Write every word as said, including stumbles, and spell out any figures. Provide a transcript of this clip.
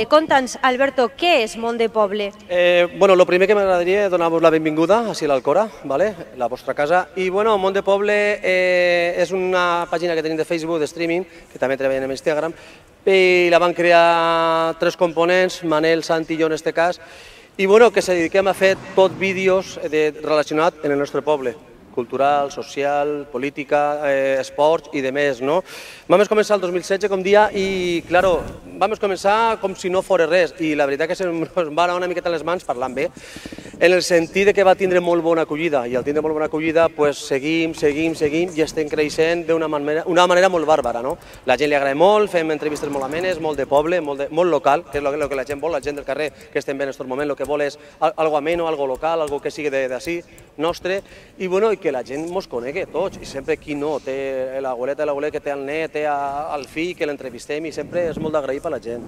Conta'ns, Alberto, què és Món de Poble? Eh, bueno, el primer que m'agradaria és donar-vos la benvinguda a l'Alcora, ¿vale? La vostra casa. I bueno, Món de Poble eh, és una pàgina que tenim de Facebook, de streaming, que també treballem en Instagram, i la van crear tres components, Manel, Santi i jo en aquest cas, i bueno, que se dediquem a fer tot vídeos de, relacionats amb el nostre poble, cultural, social, política, eh, esports i de més, no? Vam començar el dos mil setze, com dia, i, claro, vam començar com si no fos res, i la veritat que se'ns va anar una miqueta a les mans parlant bé, en el sentit que va tindre molt bona acollida, i al tindre molt bona acollida, pues, seguim, seguim, seguim, i estem creixent d'una manera, una manera molt bàrbara, no? La gent li agrada molt, fem entrevistes molt amenes, molt de poble, molt, de, molt local, que és el que la gent vol, la gent del carrer que estem bé en aquest moment, el que vol és algo ameno, algo local, algo que sigui d'ací, nostre, i bueno, i que la gent mos conegui tots, i sempre qui no, té l'abueleta i l'abuelet que té el net, té el fill, que l'entrevistem, i sempre és molt d'agrair per la gent.